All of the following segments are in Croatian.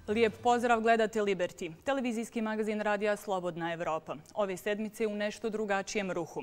Lijep pozdrav, gledate Liberty, televizijski magazin radija Slobodna Evropa. Ove sedmice u nešto drugačijem ruhu.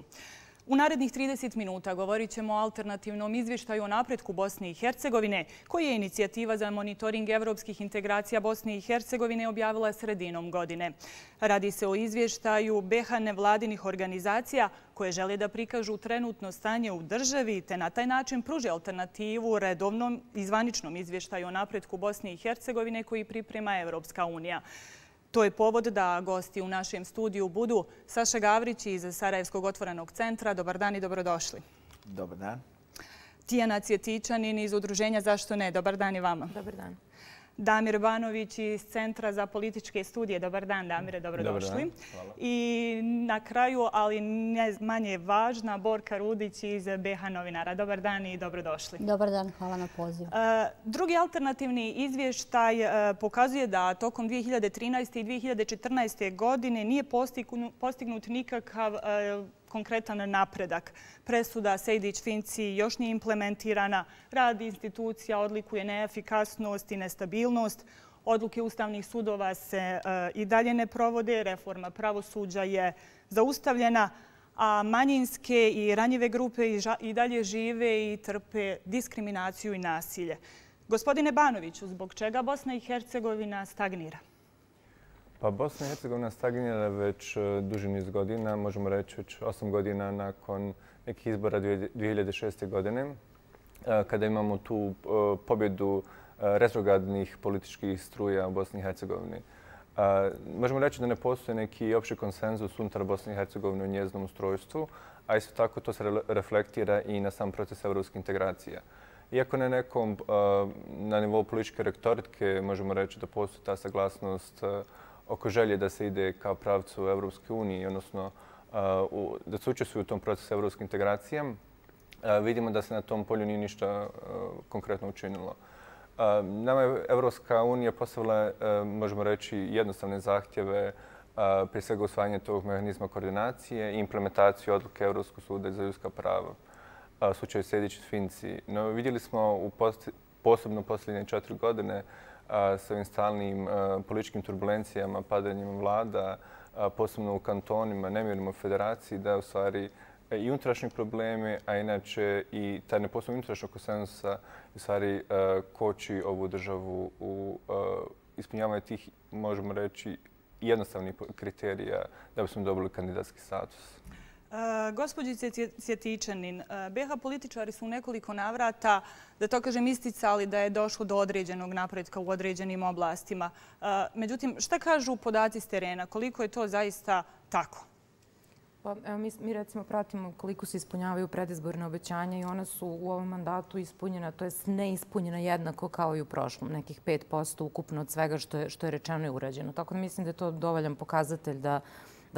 U narednih 30 minuta govorit ćemo o alternativnom izvještaju o napretku Bosne i Hercegovine, koji je inicijativa za monitoring evropskih integracija Bosne i Hercegovine objavila sredinom godine. Radi se o izvještaju BiH nevladinih organizacija koje žele da prikažu trenutno stanje u državi te na taj način pruže alternativu redovnom i zvaničnom izvještaju o napretku Bosne i Hercegovine koji priprema Evropska unija. To je povod da gosti u našem studiju budu Saša Gavrić iz Sarajevskog otvorenog centra. Dobar dan i dobrodošli. Dobar dan. Tijana Cvjetičanin iz Udruženja Zašto ne? Dobar dan i vama. Dobar dan. Damir Banović iz Centra za političke studije. Dobar dan, Damire, dobrodošli. Dobar dan, hvala. I na kraju, ali ne manje važna, Borka Rudić iz BiH novinara. Dobar dan i dobrodošli. Dobar dan, hvala na pozivu. Drugi alternativni izvještaj pokazuje da tokom 2013. i 2014. godine nije postignut nikakav konkretan napredak. Presuda Sejdić-Finci još nije implementirana, rad institucija odlikuje neefikasnost i nestabilnost, odluke ustavnih sudova se i dalje ne provode, reforma pravosuđa je zaustavljena, a manjinske i ranjive grupe i dalje žive i trpe diskriminaciju i nasilje. Gospodine Banoviću, zbog čega Bosna i Hercegovina stagnira? Pa Bosna i Hercegovina stagnira već duži niz godina, možemo reći već 8 godina nakon nekih izbora 2006. godine, kada imamo tu pobjedu retrogradnih političkih struja u Bosni i Hercegovini. Možemo reći da ne postoji neki opći konsenzus unutar Bosne i Hercegovine u njezinom ustrojstvu, a isto tako to se reflektira i na sam proces evropskih integracija. Iako na nivou političke retorike možemo reći da postoji ta saglasnost oko želje da se ide ka pravcu Evropske unije, odnosno da se učestvuju u tom procesu evropske integracije, vidimo da se na tom polju nije ništa konkretno učinilo. Nama je Evropska unija postavila, možemo reći, jednostavne zahtjeve, prije svega usvajanje tog mehanizma koordinacije i implementaciju odluke Evropskog suda za ljudska prava u slučaju Sejdić-Finci. No, vidjeli smo posebno posljednje 4 godine s ovim stalnim političkim turbulencijama, padanjem vlada, posebno u kantonima, nemirima u federaciji, da je u stvari i unutrašnji problemi, a inače i taj nepostojanje unutrašnjeg konsenzusa u stvari koči ovu državu u ispunjavanju tih, možemo reći, jednostavnih kriterija da bismo dobili kandidatski status. Gospođice Cvjetičanin, BiH političari su u nekoliko navrata, da to kažem, isticali da je došlo do određenog napretka u određenim oblastima. Međutim, šta kažu podaci s terena? Koliko je to zaista tako? Pa, evo, mi recimo pratimo koliko se ispunjavaju predizborne obećanja i ona su u ovom mandatu ispunjena, to jest neispunjena jednako kao i u prošlom, nekih 5% ukupno od svega što je rečeno i urađeno. Tako da mislim da je to dovoljan pokazatelj da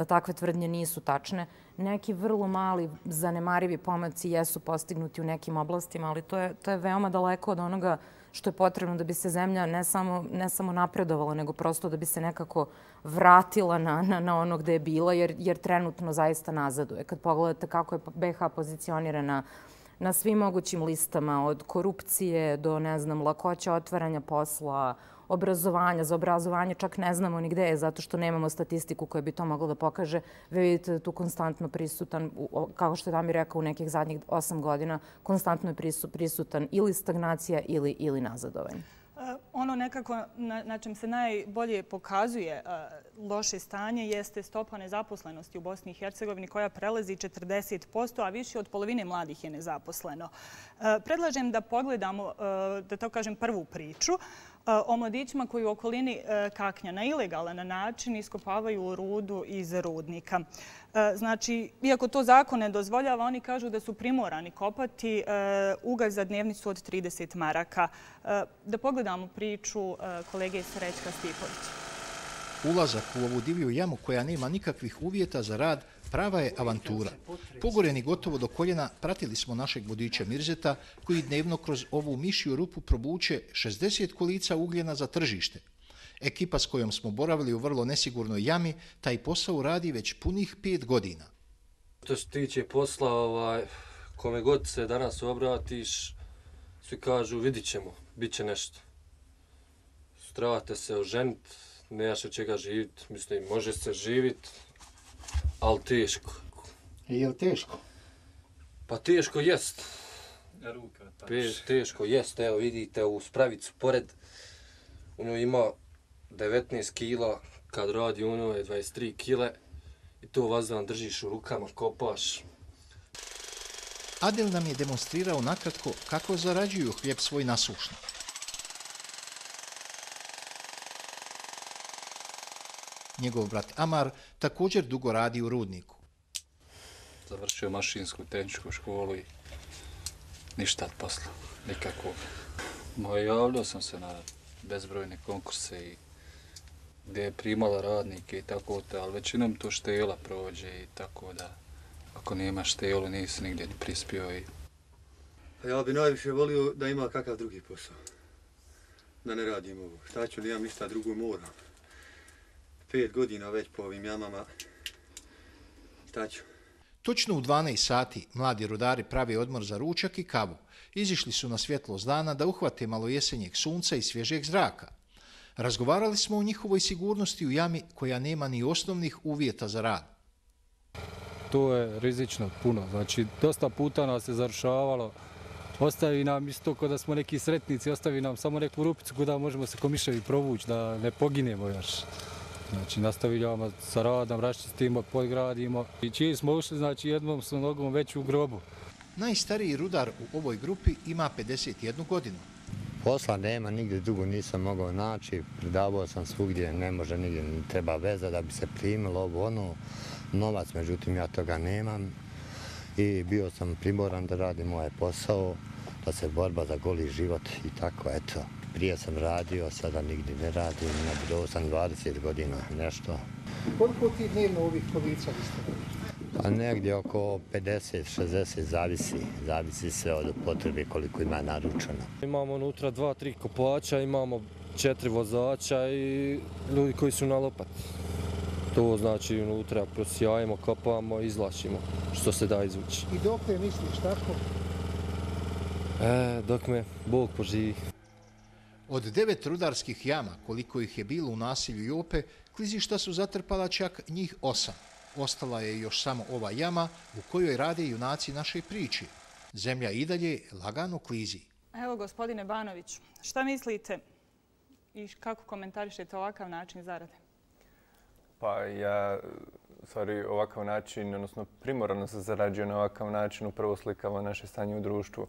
takve tvrdnje nisu tačne. Neki vrlo mali, zanemarivi pomaci jesu postignuti u nekim oblastima, ali to je veoma daleko od onoga što je potrebno da bi se zemlja ne samo napredovala, nego prosto da bi se nekako vratila na ono gde je bila, jer trenutno zaista nazaduje. Kad pogledate kako je BiH pozicionirana na svim mogućim listama, od korupcije do, ne znam, lakoća otvaranja posla, obrazovanja. Za obrazovanje čak ne znamo ni gde je, zato što nemamo statistiku koja bi to mogla da pokaže. Vi vidite da tu konstantno prisutan, kao što je Damir rekao, u nekih zadnjih 8 godina, konstantno je prisutan ili stagnacija ili nazadovanje. Ono nekako na čem se najbolje pokazuje loše stanje jeste stopa nezaposlenosti u Bosni i Hercegovini koja prelazi 40%, a više od polovine mladih je nezaposleno. Predlažem da pogledamo, da to kažem, prvu priču o mladićima koji u okolini Kaknja na ilegalan način iskopavaju rudu iz rudnika. Znači, iako to zakon ne dozvoljava, oni kažu da su primorani kopati ugalj za dnevnicu od 30 maraka. Da pogledamo priču kolege Srećka Stipovića. Ulazak u ovu divlju jamu koja nema nikakvih uvjeta za rad prava je avantura. Pogoreni gotovo do koljena pratili smo našeg vodiča Mirzeta koji dnevno kroz ovu mišju rupu probuče 60 kolica ugljena za tržište. Ekipa s kojom smo boravili u vrlo nesigurnoj jami taj posao radi već punih 5 godina. Što se tiče posla, kome god se danas obratiš, svi kažu vidit ćemo, bit će nešto. trebate se oženiti, nemaš od čega živjeti. Mislim, može se živjeti, ali teško. Je li teško? Pa teško jest. Teško jest, evo vidite u spravicu pored. Ono ima 19 kila, kad radi ono je 23 kile. I to vazdan držiš u rukama, kopaš. Adel nam je demonstrirao nakratko kako zarađuju hljeb svoj nasušno. Njegov brat Amar također dugo radi u rudniku. Završio mašinsku tehničku školu i ništa od posla, nikakvog. Javljao sam se na bezbrojne konkurse i gdje je primala radnike i tako to, ali većinom to štela prođe i tako da ako nema štelu nisi nigdje ni prispio. Ja bi najviše volio da ima kakav drugi posao, da ne radim ovo. Šta ću, nemam ništa drugo, moram. 5 godina već po ovim jamama, šta ću? Točno u 12 sati mladi rudari prave odmor za ručak i kavu. Izišli su na svjetlost dana da uhvate malo jesenjeg sunca i svježeg zraka. Razgovarali smo o njihovoj sigurnosti u jami koja nema ni osnovnih uvjeta za rad. To je rizično puno. Znači, dosta puta nas je zarušavalo. Ostavi nam isto kao da smo neki sretnici, ostavi nam samo neku rupicu kuda možemo se ko miševi provući, da ne poginemo još. Znači, nastavljamo sa radom, raščistimo, podgradimo. I čiji smo ušli, znači, jednom smo nogom već u grobu. Najstariji rudar u ovoj grupi ima 51 godinu. Posla nema, nigdje dugo nisam mogao naći, predavao sam svugdje, ne može nigdje, treba veza da bi se primilo ovo ono, novac, međutim ja toga nemam i bio sam primoran da radim ovaj posao, da se borba za goli život i tako, eto. Prije sam radio, sada nigdje ne radim, nabudo sam 20 godina, nešto. Koliko ti dnevno ovih kolica ste? Pa negdje oko 50-60, zavisi sve od potrebe koliko ima naručeno. Imamo unutra 2-3 kopača, imamo 4 vozača i ljudi koji su na lopati. To znači unutra prosijajemo, kopamo, izvlačimo što se da izvući. I dok ne misliš tako? Dok me Bog poživi. Od 9 rudarskih jama, koliko ih je bilo u naselju Jope, klizišta su zatrpala čak njih 8. Ostala je još samo ova jama u kojoj rade junaci naše priče. Zemlja i dalje lagano klizi. Evo, gospodine Banović, šta mislite i kako komentarišete ovakav način zarade? Pa ja, ovakav način, odnosno primorano se zarađuje na ovakav način, upravo slikava naše stanje u društvu.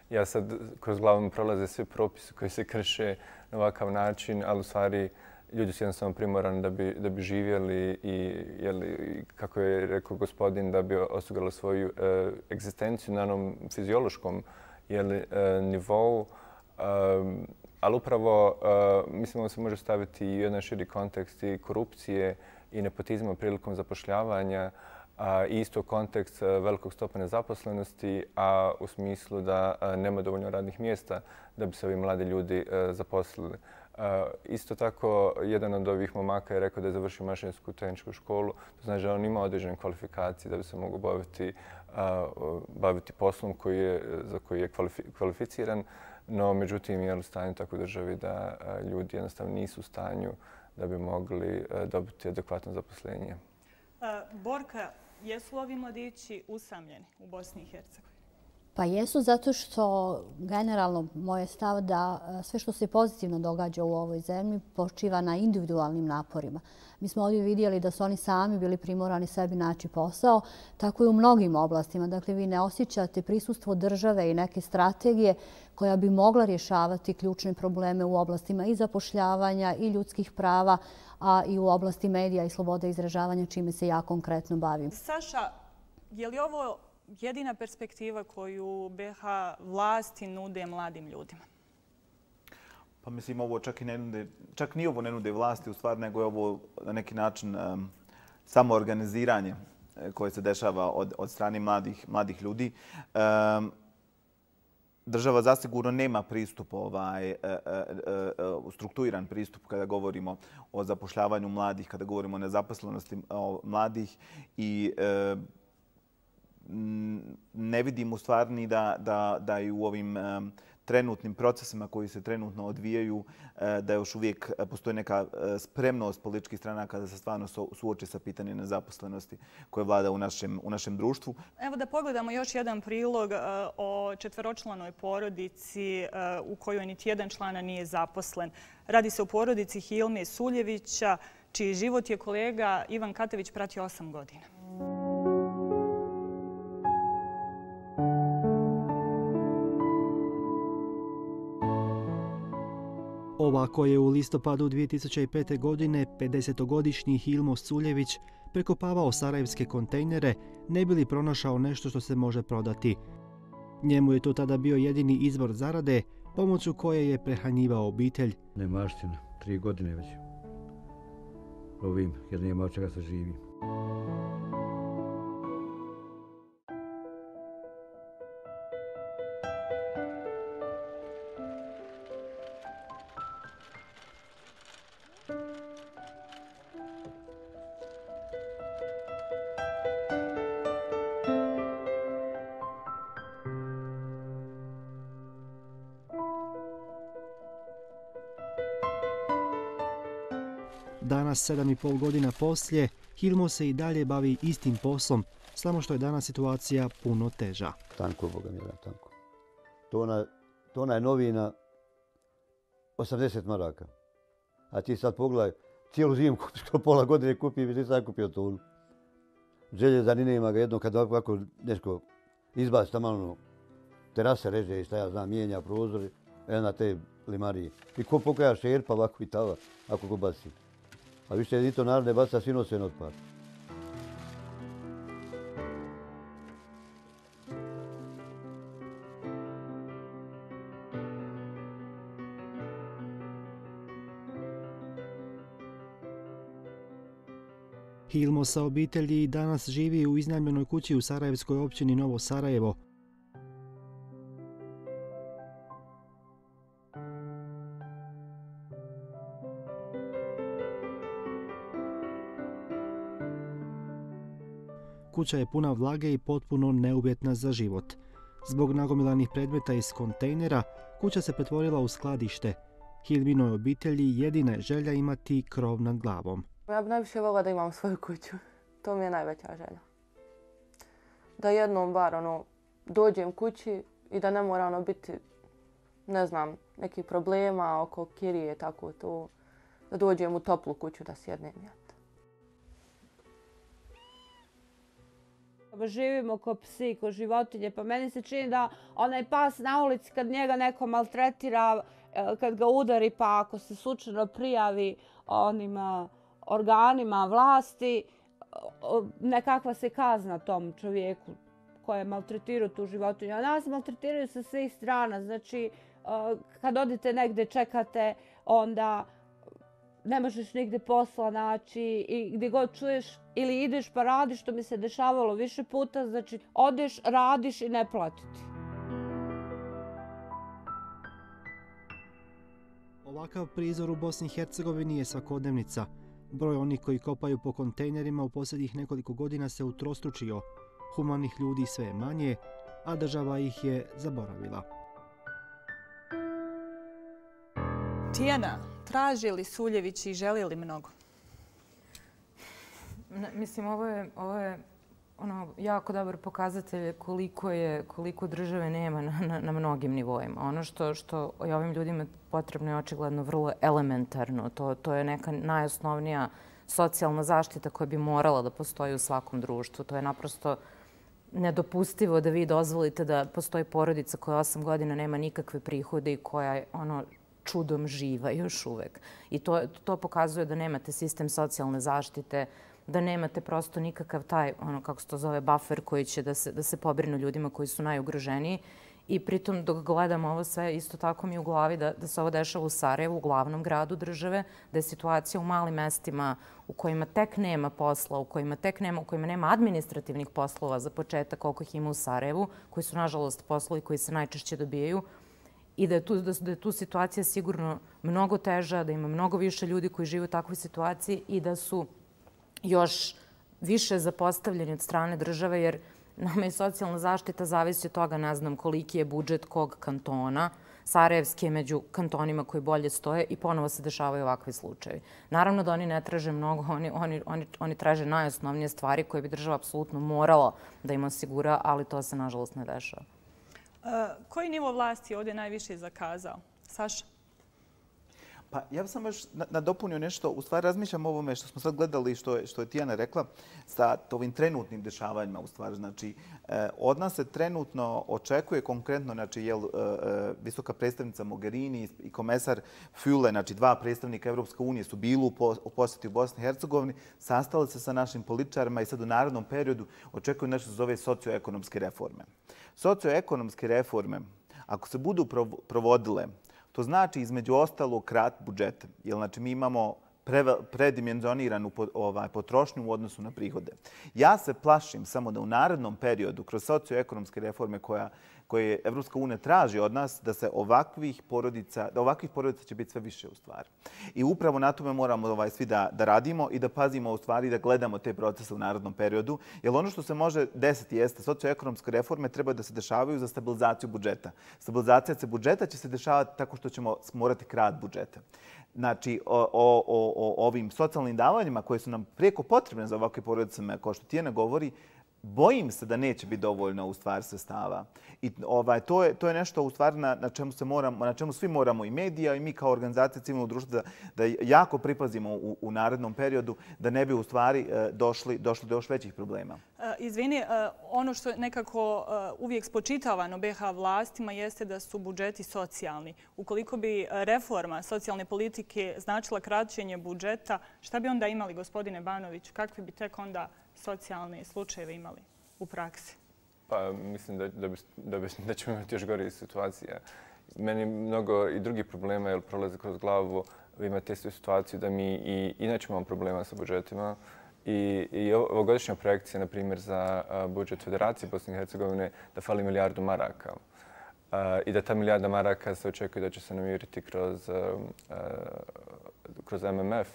Ja sad kroz glavu mi prolaze svi propisi koji se krše na ovakav način, ali u stvari ljudi su jednostavno primorani da bi živjeli i, kako je rekao gospodin, da bi osigurali svoju egzistenciju na onom fiziološkom nivou. Ali upravo mislim da se može staviti i jedan širi kontekst i korupcije i nepotizma prilikom zapošljavanja, i isto kontekst velikog stopa nezaposlenosti, a u smislu da nema dovoljno radnih mjesta da bi se ovi mladi ljudi zaposlili. Isto tako, jedan od ovih momaka je rekao da je završio mašinsku tehničku školu. To znači da on ima određene kvalifikacije da bi se mogao baviti poslom za koji je kvalificiran. No, međutim, je u stanju tako u državi da ljudi jednostavno nisu u stanju da bi mogli dobiti adekvatno zaposlenje. Borka, jesu ovi mladići usamljeni u Bosni i Hercegovini? Pa jesu, zato što generalno moj je stav da sve što se pozitivno događa u ovoj zemlji počiva na individualnim naporima. Mi smo ovdje vidjeli da su oni sami bili primorani sebi naći posao, tako i u mnogim oblastima. Dakle, vi ne osjećate prisustvo države i neke strategije koja bi mogla rješavati ključne probleme u oblastima i zapošljavanja i ljudskih prava, a i u oblasti medija i slobode izražavanja, čime se ja konkretno bavim. Saša, je li ovo jedina perspektiva koju BiH vlasti nude mladim ljudima? Pa mislim, ovo čak ni ovo ne nude vlasti u stvari, nego je ovo na neki način samoorganiziranje koje se dešava od strane mladih ljudi. Država zasigurno nema pristup, strukturiran pristup kada govorimo o zapošljavanju mladih, kada govorimo o nezaposlenosti mladih i ne vidim u stvari da i u ovim trenutnim procesima koji se trenutno odvijaju, da još uvijek postoji neka spremnost političkih stranaka da se stvarno suoče sa pitanjem nezaposlenosti koje vlada u našem društvu. Evo da pogledamo još jedan prilog o četveročlanoj porodici u kojoj niti jedan člana nije zaposlen. Radi se o porodici Hilme Suljevića, čiji život je kolega Ivan Katević pratio 8 godina. Ovako je u listopadu 2005. godine 50-godišnji Hilmo Suljević prekopavao sarajevske kontejnere ne bi li pronašao nešto što se može prodati. Njemu je to tada bio jedini izvor zarade, pomoću koje je prehranjivao obitelj. Nemaština, 3 godine već. Lovim jer nema od čega se živi. Danas, 7,5 godina poslije, Hilmo se i dalje bavi istim poslom, samo što je danas situacija puno teža. Tanko, Boga mi da, tanko. Tona je novina 80 maraka. A ti sad pogledaj, cijelu zimu skoro pola godine kupim i nisam kupio tonu. Željezani nema ga jedno kad ovako nešto izbaci tamo terase reže i šta ja znam, mijenja prozori, na te limarije. I ko pokaja šerpa ovako i tava, ako go baci. A više i to narod ne baca, svi nose otpad. Hilmo sa obitelji danas živi u iznajmljenoj kući u sarajevskoj općini Novo Sarajevo. Kuća je puna vlage i potpuno neuvjetna za život. Zbog nagomilanih predmeta iz kontejnera, kuća se pretvorila u skladište. Hilminoj obitelji jedina je želja imati krov nad glavom. Ja bih najviše volila da imam svoju kuću. To mi je najveća želja. Da jednom bar dođem kući i da ne mora biti, ne znam, nekih problema oko kirije, tako to. Da dođem u toplu kuću da sjednem. Živimo ko psi, ko životinje, pa meni se čini da onaj pas na ulici kad njega neko maltretira, kad ga udari, pa ako se slučajno prijavi onim organima vlasti, nekakva se kazna tom čovjeku koji je maltretirao tu životinju. A nas maltretiraju sa svih strana, znači kad odete negdje čekate, onda ne možeš nigdje posla naći i gdje god čuješ ili ideš pa radiš, što mi se dešavalo više puta, znači odeš, radiš i ne platiti. Ovakav prizor u Bosni i Hercegovini je svakodnevnica. Broj onih koji kopaju po kontejnerima u posljednjih nekoliko godina se utrostručio. Humanih ljudi sve je manje, a država ih je zaboravila. Tijana, traži li Suljević i želi li mnogo? Mislim, ovo je jako dobar pokazatelj koliko države nema na mnogim nivoima. Ono što je ovim ljudima potrebno je očigledno vrlo elementarno. To je neka najosnovnija socijalna zaštita koja bi morala da postoji u svakom društvu. To je naprosto nedopustivo da vi dozvolite da postoji porodica koja 8 godina nema nikakve prihode i koja je čudom živa još uvek. I to pokazuje da nemate sistem socijalne zaštite, da nemate prosto nikakav taj, kako se to zove, buffer koji će da se pobrinu ljudima koji su najugroženiji. I pritom dok gledamo ovo sve, isto tako mi je u glavi da se ovo dešava u Sarajevu, u glavnom gradu države, da je situacija u malim mestima u kojima tek nema posla, u kojima nema administrativnih poslova za početak koliko ih ima u Sarajevu, koji su nažalost poslovi koji se najčešće dobijaju, i da je tu situacija sigurno mnogo teža, da ima mnogo više ljudi koji žive u takvoj situaciji i da su još više zapostavljeni od strane države, jer nama i socijalna zaštita zavisi od toga, ne znam koliki je budžet kog kantona, Sarajevski je među kantonima koji bolje stoje i ponovo se dešavaju ovakvi slučajevi. Naravno da oni ne traže mnogo, oni traže najosnovnije stvari koje bi država apsolutno morala da im osigura, ali to se nažalost ne dešava. Koji nivo vlasti je ovdje najviše zakazao? Saša? Pa ja bih samo još nadopunio nešto. U stvari razmišljam o ovome što smo sad gledali, što je Tijana rekla, sa ovim trenutnim dešavanjima. U stvari, znači, od nas se trenutno očekuje konkretno, znači, visoka predstavnica Mogherini i komesar Füle, znači 2 predstavnika Evropske unije su bili u posjeti u Bosni i Hercegovini, sastali se sa našim političarima i sad u narednom periodu očekuju nešto se zove socioekonomske reforme. Socioekonomske reforme, ako se budu provodile, to znači između ostalog krat budžeta. Jer znači mi imamo predimenzioniranu potrošnju u odnosu na prihode. Ja se plašim samo da u narednom periodu, kroz socioekonomske reforme koje Evropska unija traži od nas, da ovakvih porodica će biti sve više u stvari. I upravo na tome moramo svi da radimo i da pazimo u stvari da gledamo te procese u narednom periodu. Jer ono što se može desiti jeste socioekonomske reforme treba da se dešavaju za stabilizaciju budžeta. Stabilizacija budžeta će se dešavati tako što ćemo morati krat budžeta. Znači, o ovim socijalnim davanjima koje su nam prijeko potrebne za ovakve porodice, kao što Tijana govori, bojim se da neće biti dovoljno u stvari sredstava. I to je nešto u stvari na čemu svi moramo, i medija i mi kao organizacija civilnog društva, da jako pripazimo u narednom periodu, da ne bi u stvari došli do još većih problema. Izvini, ono što je nekako uvijek spočitavano BiH vlastima jeste da su budžeti socijalni. Ukoliko bi reforma socijalne politike značila kraćenje budžeta, šta bi onda imali, gospodine Banović? Kakvi bi tek onda socijalne slučajeve imali u praksi? Pa mislim da ćemo imati još gore situacije. Meni mnogo i drugih problema jer prolaze kroz glavu. Vi imate istu situaciju da mi i inače imamo problema sa budžetima. I ovogodišnja projekcija, na primjer, za budžet Federacije Bosne i Hercegovine da fali $1 milijardu i da ta $1 milijarda maraka se očekuje da će se namiriti kroz MMF,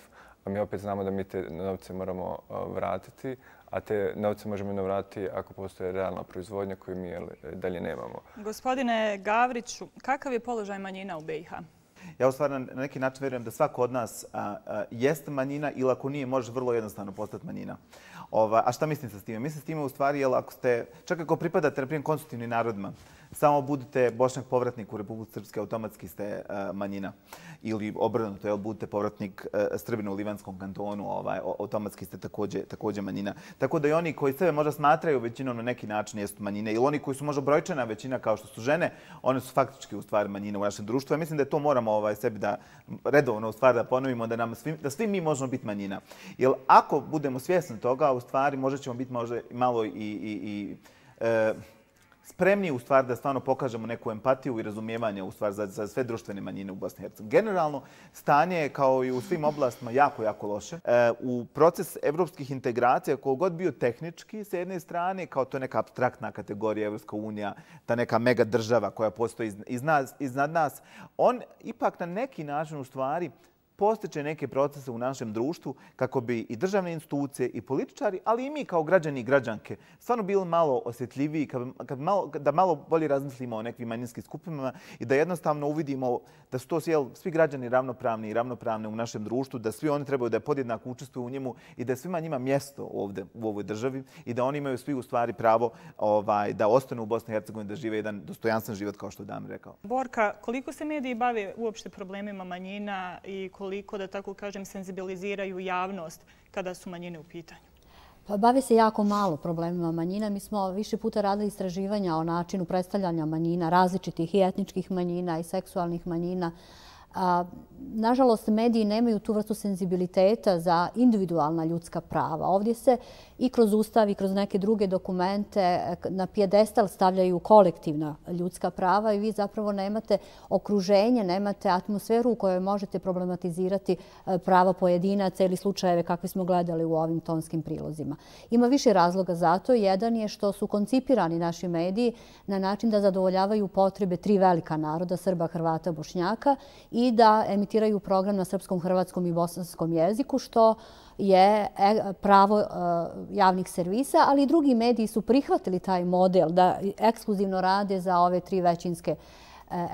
a mi opet znamo da mi te novce moramo vratiti, a te novce možemo vratiti ako postoje realna proizvodnja koju mi dalje nemamo. Gospodine Gavriću, kakav je položaj manjina u BiH? Ja u stvari na neki način vjerujem da svako od nas jeste manjina ili ako nije, može vrlo jednostavno postati manjina. A šta mislim sa s time? Mislim s time u stvari, jer ako ste, čak ako pripadate na primjer konstitutivnim narodima, samo budete Bošnjak povratnik u Republici Srpske, automatski ste manjina. Ili obrnuto, jel budete povratnik Srbina u Livanskom kantonu, automatski ste također manjina. Tako da i oni koji sebe možda smatraju većinom na neki način jesu manjine. Ili oni koji su možda brojčana većina kao što su žene, one su faktički u stvari manjine u našem društvu. Ja mislim da to moramo sebi da redovno u stvari da ponovimo, da svi mi možemo biti manjina. Jer ako budemo svjesni toga, u stvari možda ćemo biti možda malo i spremni u stvari da stvarno pokažemo neku empatiju i razumijevanje u stvari za sve društvene manjine u Bosni i Hercegovini. Generalno, stanje je kao i u svim oblastima jako, jako loše. U proces evropskih integracija, koliko god bio tehnički s jedne strane, kao to je neka abstraktna kategorija Evropska unija, ta neka mega država koja postoji iznad nas, on ipak na neki način u stvari postiče neke procese u našem društvu kako bi i državne institucije i političari, ali i mi kao građani i građanke stvarno bili malo osjetljiviji, da malo bolje razmislimo o nekim manjinskim skupinama i da jednostavno uvidimo da su to svi građani ravnopravni i ravnopravne u našem društvu, da svi oni trebaju da podjednako učestvuju u njemu i da svima njima mjesto ovdje u ovoj državi i da oni imaju svi u stvari pravo da ostanu u Bosni i Hercegovini, da žive jedan dostojanstven život kao što je Damir rekao. Borka, koliko se mediji bave uopšte problemima manjina i koliko, da tako kažem, senzibiliziraju javnost kada su manjine u pitanju? Pa bave se jako malo problemima manjina. Mi smo više puta radili istraživanja o načinu predstavljanja manjina, različitih i etničkih manjina i seksualnih manjina. Nažalost, mediji nemaju tu vrstu senzibiliteta za individualna ljudska prava. Ovdje se i kroz Ustav i kroz neke druge dokumente na pijedestal stavljaju kolektivna ljudska prava i vi zapravo nemate okruženje, nemate atmosferu u kojoj možete problematizirati prava pojedinaca ili slučajeve kakve smo gledali u ovim tonskim prilozima. Ima više razloga za to. Jedan je što su koncipirani naši mediji na način da zadovoljavaju potrebe 3 velika naroda, Srba, Hrvata, Bošnjaka, i da emitiraju program na srpskom, hrvatskom i bosanskom jeziku, što je pravo javnih servisa, ali i drugi mediji su prihvatili taj model da ekskluzivno rade za ove 3 većinske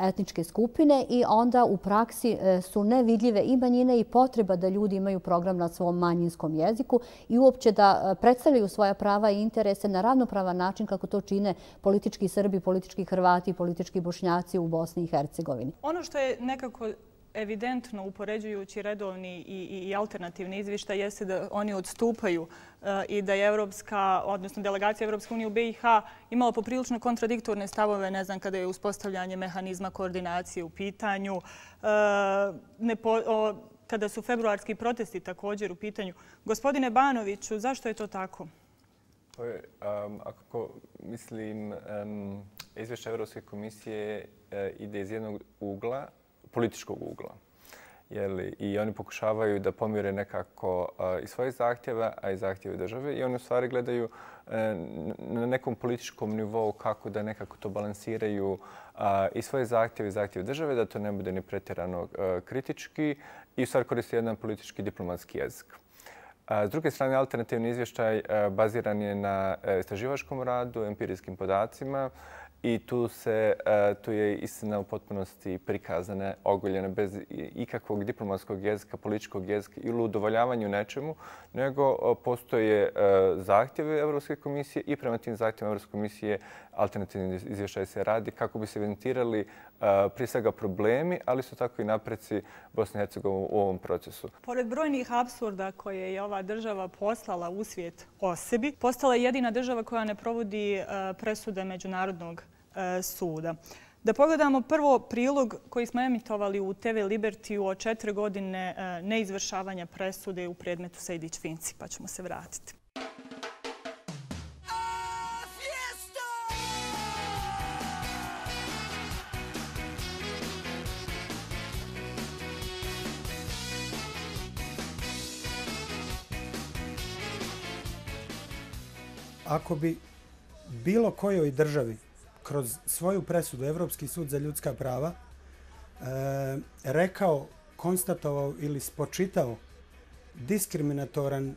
etničke skupine i onda u praksi su nevidljive i manjine i potreba da ljudi imaju program na svom manjinskom jeziku i uopće da predstavljaju svoja prava i interese na ravnopravan način kako to čine politički Srbi, politički Hrvati, politički Bošnjaci u Bosni i Hercegovini. Ono što je nekako evidentno upoređujući redovni i alternativni izvještaj jeste da oni odstupaju i da je delegacija Evropske unije u BiH imala poprilično kontradiktorne stavove, ne znam, kada je uspostavljanje mehanizma koordinacije u pitanju, kada su februarski protesti također u pitanju. Gospodine Banoviću, zašto je to tako? Ako mislim, izvješće Evropske komisije ide iz jednog ugla, političkog ugla. I oni pokušavaju da pomire nekako i svoje zahtjeve, a i zahtjeve države. I oni u stvari gledaju na nekom političkom nivou kako da nekako to balansiraju i svoje zahtjeve i zahtjeve države, da to ne bude ni pretjerano kritički i u stvari koriste jedan politički diplomatski jezik. S druge strane, alternativni izvještaj baziran je na istraživačkom radu, empirijskim podacima i tu je istina u potpunosti prikazana, ogoljena bez ikakvog diplomatskog jezika, političkog jezika ili udovoljavanju nečemu, nego postoje zahtjeve Evropske komisije i prema tim zahtjevima Evropske komisije alternativni izvještaj se radi kako bi se evidentirali prije svega problemi, ali su tako i napreci Bosne i Hercegovine u ovom procesu. Pored brojnih apsurda koje je ova država poslala u svijet o sebi, postala je jedina država koja ne provodi presude Međunarodnog suda. Da pogledamo prvo prilog koji smo emitovali u TV Libertiju o 4 godine neizvršavanja presude u predmetu Sejdić-Finci, pa ćemo se vratiti. Ako bi bilo kojoj državi kroz svoju presudu Evropski sud za ljudska prava rekao, konstatovao ili spočitao diskriminatoran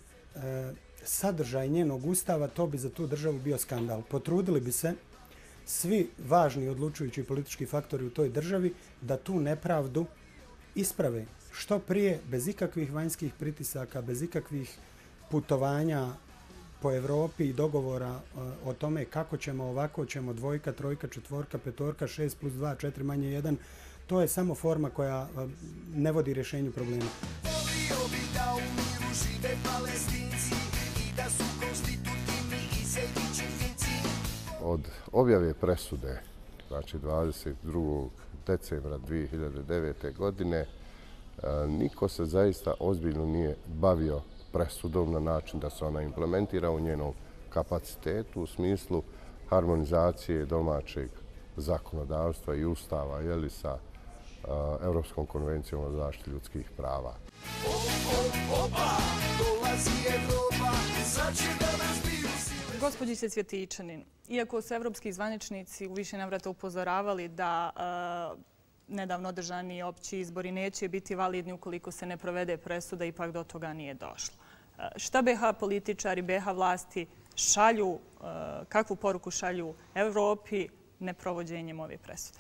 sadržaj njenog ustava, to bi za tu državu bio skandal. Potrudili bi se svi važni odlučujući politički faktori u toj državi da tu nepravdu isprave što prije, bez ikakvih vanjskih pritisaka, bez ikakvih putovanja po Evropi i dogovora o tome kako ćemo, ovako ćemo, 2, 3, 4, 5, 6 plus 2, 4 manje 1. To je samo forma koja ne vodi rješenju problema. Od objave presude, znači 22. decembra 2009. godine, niko se zaista ozbiljno nije bavio presudom na način da se ona implementira u njenom kapacitetu u smislu harmonizacije domaćeg zakonodavstva i ustava sa Europskom konvencijom o zaštiti ljudskih prava. Gospođice Cvjetičanin, iako su evropski zvaničnici u više navrata upozoravali da nedavno održani opći izbori neće biti validni ukoliko se ne provede presuda, ipak do toga nije došlo. Šta BiH političari, BiH vlasti šalju, kakvu poruku šalju Evropi neprovođenjem ove presude?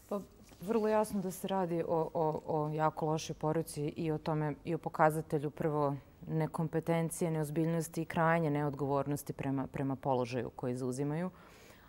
Pa, vrlo jasno da se radi o jako lošoj poruci i o tome i o pokazatelju prvo nekompetencije, neozbiljnosti i krajnje neodgovornosti prema položaju koji zauzimaju.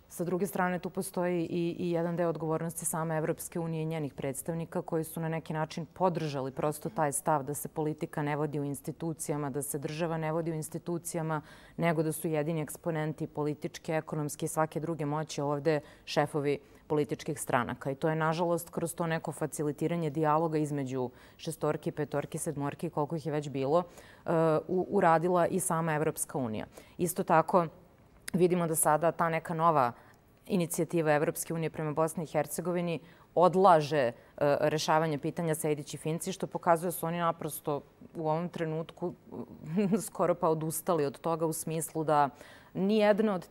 Sa druge strane, tu postoji i jedan deo odgovornosti same Evropske unije i njenih predstavnika koji su na neki način podržali prosto taj stav da se politika ne vodi u institucijama, da se država ne vodi u institucijama, nego da su jedini eksponenti političke, ekonomske i svake druge moći ovde šefovi političkih stranaka. I to je, nažalost, kroz to neko facilitiranje dijaloga između 6, 5, 7, koliko ih je već bilo, uradila i sama Evropska unija. Isto tako, vidimo da sada ta neka nova inicijativa Evropske unije prema Bosni i Hercegovini odlaže rešavanja pitanja Sejdić i Finci, što pokazuje da su oni naprosto u ovom trenutku skoro pa odustali od toga u smislu da nijedno od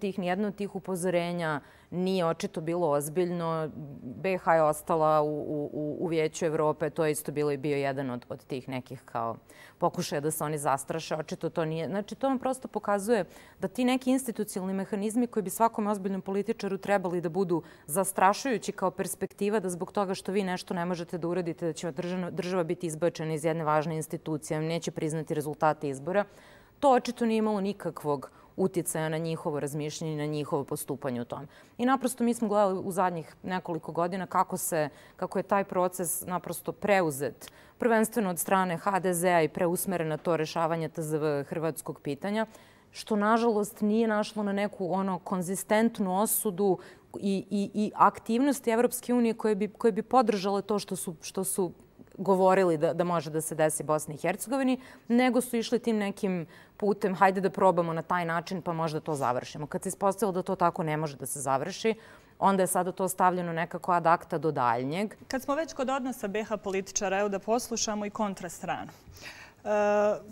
tih upozorenja nije očito bilo ozbiljno. BiH je ostala u Vijeću Evrope, to je isto bio jedan od tih nekih kao pokušaja da se oni zastraše. Očito to nije. Znači, to vam prosto pokazuje da ti neki institucionalni mehanizmi koji bi svakom ozbiljnom političaru trebali da budu zastrašujući kao perspektiva da zbog toga što vi nešto ne možete da uradite, da će država biti izbačena iz jedne važne institucije, neće priznati rezultate izbora, to očito nije imalo nikakvog utjecaja na njihovo razmišljanje i na njihovo postupanje u tom. I naprosto mi smo gledali u zadnjih nekoliko godina kako je taj proces naprosto preuzet, prvenstveno od strane HDZ-a i preusmeren na to rešavanje TZV hrvatskog pitanja, što nažalost nije našlo na neku konzistentnu osudu i aktivnosti Evropske unije koje bi podržale to što su govorili da može da se desi Bosni i Hercegovini, nego su išli tim nekim putem, hajde da probamo na taj način pa možda to završimo. Kad se ispostavilo da to tako ne može da se završi, onda je sada to stavljeno nekako ad acta do daljnjeg. Kad smo već kod odnosa BiH političara, evo da poslušamo i kontrastranu.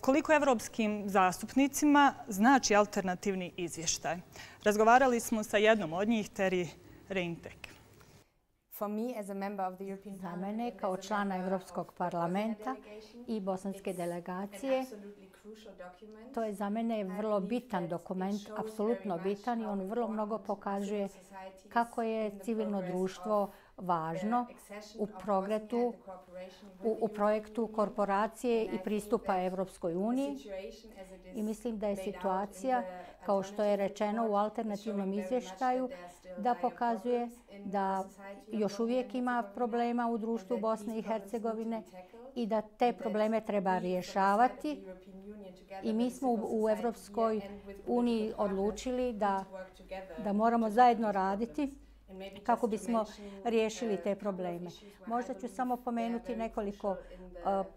Koliko evropskim zastupnicima znači alternativni izvještaj? Razgovarali smo sa jednom od njih, Terry Reintek. Za mene kao člana Evropskog parlamenta i bosanske delegacije, to je za mene vrlo bitan dokument, apsolutno bitan i on vrlo mnogo pokazuje kako je civilno društvo važno u projektu korporacije i pristupa Evropskoj uniji. I mislim da je situacija, kao što je rečeno u alternativnom izvještaju, da pokazuje da još uvijek ima problema u društvu Bosne i Hercegovine i da te probleme treba rješavati. I mi smo u Evropskoj uniji odlučili da moramo zajedno raditi kako bismo riješili te probleme. Možda ću samo pomenuti nekoliko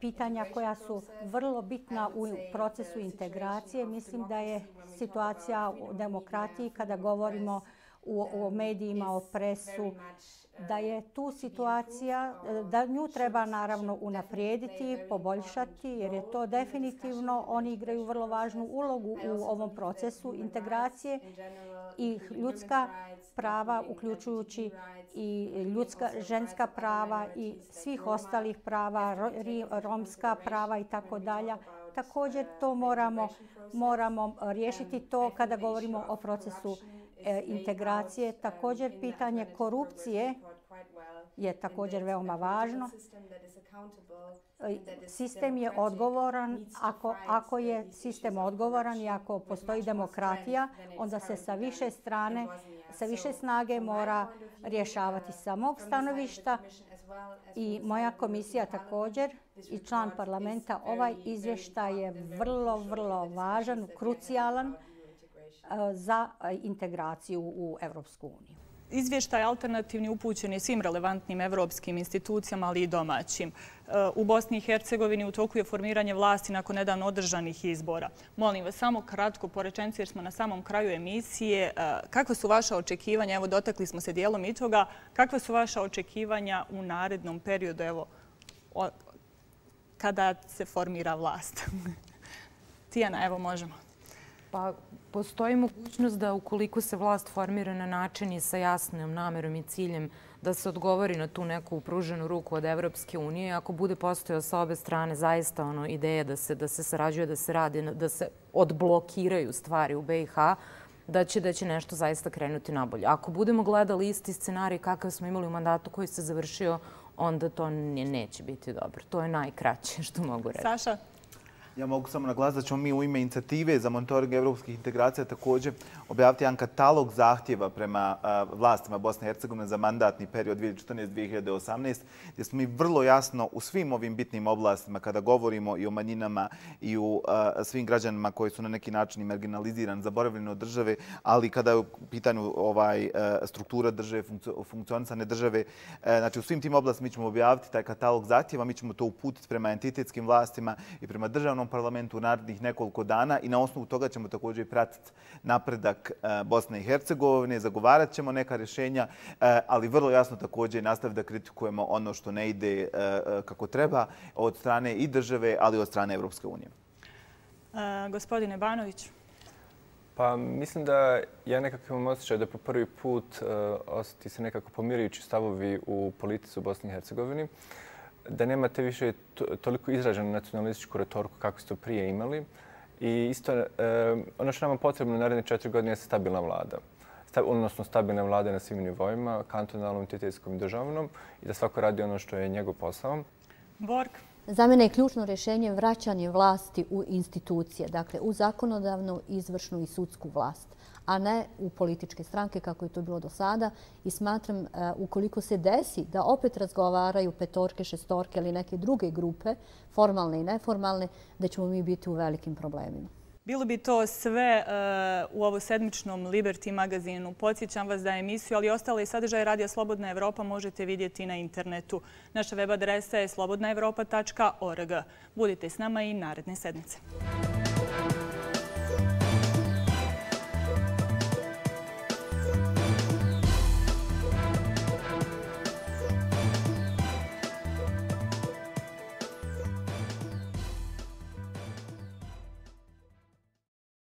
pitanja koja su vrlo bitna u procesu integracije. Mislim da je situacija u demokratiji, kada govorimo o medijima, o presu, da je tu situacija, da nju treba naravno unaprijediti, poboljšati, jer je to definitivno, oni igraju vrlo važnu ulogu u ovom procesu integracije i ljudska prava, uključujući i ženska prava i svih ostalih prava, romska prava i tako dalje. Također to moramo riješiti to kada govorimo o procesu integracije. Također pitanje korupcije je također veoma važno. Sistem je odgovoran. Ako je sistem odgovoran i ako postoji demokratija, onda se sa više snage mora rješavati sa mog stanovišta. I moja komisija također i član parlamenta, ovaj izvještaj je vrlo, vrlo važan, krucijalan za integraciju u Evropsku uniju. Izvještaj alternativni upućen je svim relevantnim evropskim institucijama, ali i domaćim. U Bosni i Hercegovini u toku je formiranje vlasti nakon nedavno održanih izbora. Molim vas samo kratko po rečenici jer smo na samom kraju emisije. Kakva su vaša očekivanja? Evo, dotakli smo se dijelom i toga. Kakva su vaša očekivanja u narednom periodu, evo, kada se formira vlast? Tijana, evo, možemo. Pa postoji mogućnost da ukoliko se vlast formira na način i sa jasnom namerom i ciljem da se odgovori na tu neku pruženu ruku od Evropske unije, ako bude postojao sa obe strane zaista ideja da se sarađuje, da se radi, da se odblokiraju stvari u BiH, da će nešto zaista krenuti nabolje. Ako budemo gledali isti scenarij kakav smo imali u mandatu koji se završio, onda to neće biti dobro. To je najkraće što mogu reći. Saša? Ja mogu samo naglasiti da ćemo mi u ime inicijative za monitoring evropskih integracija također objaviti jedan katalog zahtjeva prema vlastima Bosne i Hercegovine za mandatni period 2014-2018, gdje smo mi vrlo jasno u svim ovim bitnim oblastima, kada govorimo i o manjinama i o svim građanima koji su na neki način marginalizirani, zaboravljeni od države, ali kada je u pitanju struktura države, funkcionisane države, znači u svim tim oblastima mi ćemo objaviti taj katalog zahtjeva, mi ćemo to uputiti prema entitetskim vlastima i prema državnom nacionalnom parlamentu u narednih nekoliko dana i na osnovu toga ćemo također pratiti napredak Bosne i Hercegovine, zagovarat ćemo neka rješenja, ali vrlo jasno također nastaviti da kritikujemo ono što ne ide kako treba od strane i države, ali i od strane Evropske unije. Gospodine Banović. Pa mislim da ja nekako imam osjećaj da po prvi put osjeti se nekako pomirujući stavovi u politici u Bosni i Hercegovini, da nemate više toliko izraženu nacionalističku retoriku kako ste to prije imali. I isto ono što nam je potrebno u naredne 4 godine je stabilna vlada. Odnosno stabilne vlade na svim nivoima, kantonalnom, entitetskom i državnom, i da svako radi ono što je njegov posao. Borg. Za mene je ključno rješenje vraćanje vlasti u institucije, dakle u zakonodavnu, izvršnu i sudsku vlast, a ne u političke stranke kako je to bilo do sada. I smatram, ukoliko se desi da opet razgovaraju petorke, šestorke ili neke druge grupe, formalne i neformalne, da ćemo mi biti u velikim problemima. Bilo bi to sve u ovosedmičnom Liberty magazinu. Podsjećam vas da emisiju, ali i ostale sadržaje Radija Slobodna Evropa možete vidjeti na internetu. Naša web adresa je slobodnaevropa.org. Budite s nama i naredne sedmice.